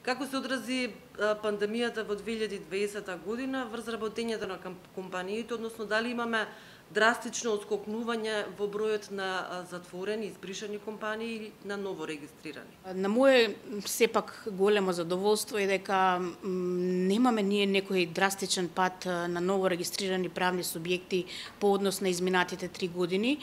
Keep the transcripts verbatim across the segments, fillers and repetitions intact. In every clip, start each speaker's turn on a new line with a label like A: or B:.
A: Како се одрази пандемијата во две илјади и дваесета година врз работењето на компаниите, односно дали имаме драстично отскокнување во бројот на затворени, избришани компании или на ново регистрирани?
B: На моје сепак големо задоволство е дека немаме ние некој драстичен пат на ново регистрирани правни субјекти по однос на изминатите три години.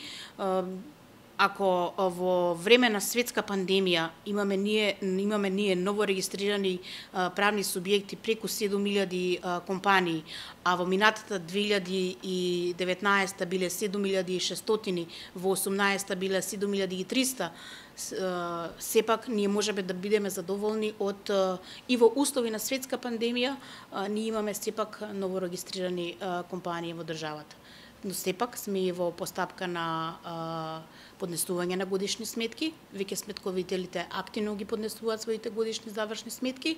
B: Ако во време на светска пандемија имаме ние имаме ние ново регистрирани а, правни субјекти преку седум илјади а, компании, а во минатата две илјади и деветнаесета биле седум илјади и шестстотини, во осумнаесета биле седум илјади и триста, а, сепак ние можеме да бидеме задоволни од а, и во услови на светска пандемија а, ние имаме сепак ново регистрирани а, компании во државата. Но сепак сме и во постапка на а, поднесување на годишни сметки. Веќе сметковителите активно ги поднесуваат своите годишни завршни сметки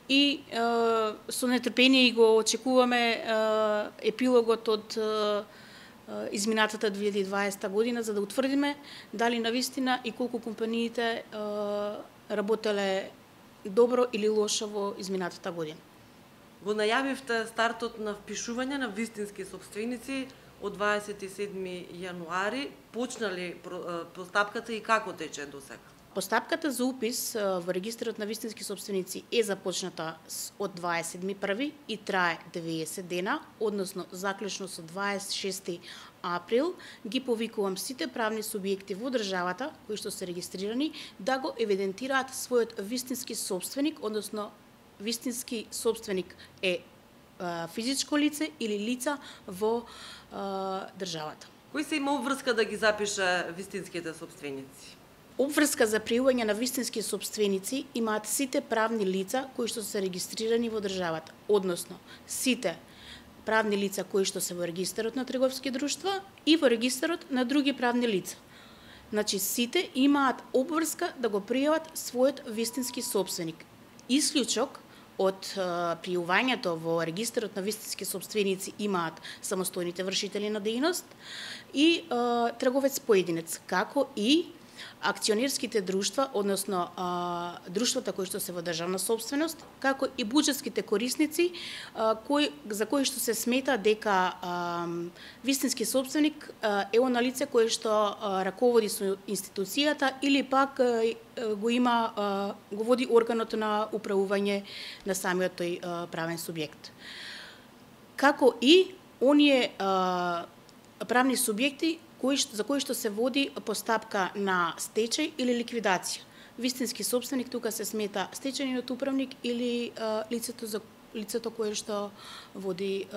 B: и а, со нетрпение го очекуваме а, епилогот од а, изминатата две илјади и дваесета година за да утврдиме дали навистина и колку компаниите а, работеле добро или лошо во изминатата година.
A: Го најавивте стартот на впишување на вистински сопственици од дваесет и седми јануари. Почна ли постапката и како тече до сега?
B: Постапката за упис во регистарот на вистински сопственици е започната од дваесет и седми први и трае деветдесет дена, односно заклучно со дваесет и шести април ги повикувам сите правни субјекти во државата кои што се регистрирани да го евидентираат својот вистински сопственик, односно вистински сопственик е физичко лице или лица во а, државата.
A: Кој се има обврска да ги запише вистинските сопственици?
B: Обврска за пријување на вистински сопственици имаат сите правни лица кои што се регистрирани во државата, односно сите правни лица кои што се во регистарот на трговски друштва и во регистарот на други правни лица. Значи сите имаат обврска да го пријават својот вистински сопственик. Исклучок од пријувањето во регистарот на вистински сопственици имаат самостојните вршители на дејност и а, трговец поединец, како и акционерските друштва, односно а, друштвата кои што се во државна собственост, како и буџетските корисници а, кои, за кои што се смета дека а, вистински сопственик а, е она лице кое што а, раководи со институцијата или пак а, го има а, го води органот на управување на самиот тој а, правен субјект. Како и оние а, правни субјекти кои, за кои што се води постапка на стечај или ликвидација. Вистински сопственик тука се смета стечајниот управник или а, лицето за лицето кое што води а,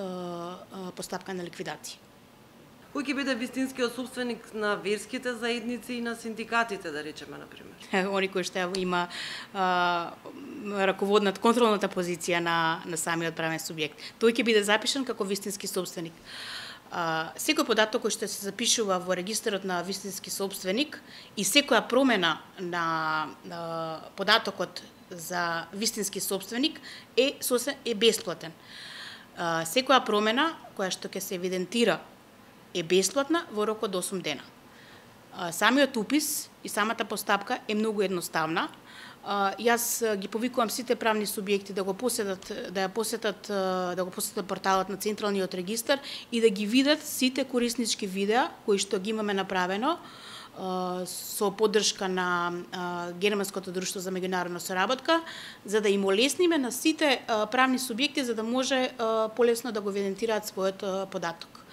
B: а, постапка на ликвидација.
A: Кој ќе биде вистинскиот сопственик на верските заедници и на синдикатите, да речеме, на пример?
B: Они кои што има а, раководната контролната позиција на на самиот правен субјект. Тој ќе биде запишан како вистински сопственик. Uh, секој податок кој што се запишува во регистарот на вистински сопственик и секоја промена на, на податокот за вистински сопственик е сосем е бесплатен. Uh, секоја промена која што ќе се евидентира е бесплатна во рок од осум дена. Uh, самиот упис и самата постапка е многу едноставна. Uh, јас ги повикувам сите правни субјекти да го посетат, да ја посетат, uh, да го посетат порталот на Централниот регистар и да ги видат сите кориснички видеа кои што ги имаме направено uh, со поддршка на uh, Германското друштво за меѓународна соработка, за да им олесниме на сите uh, правни субјекти за да може uh, полесно да го евидентираат својот uh, податок.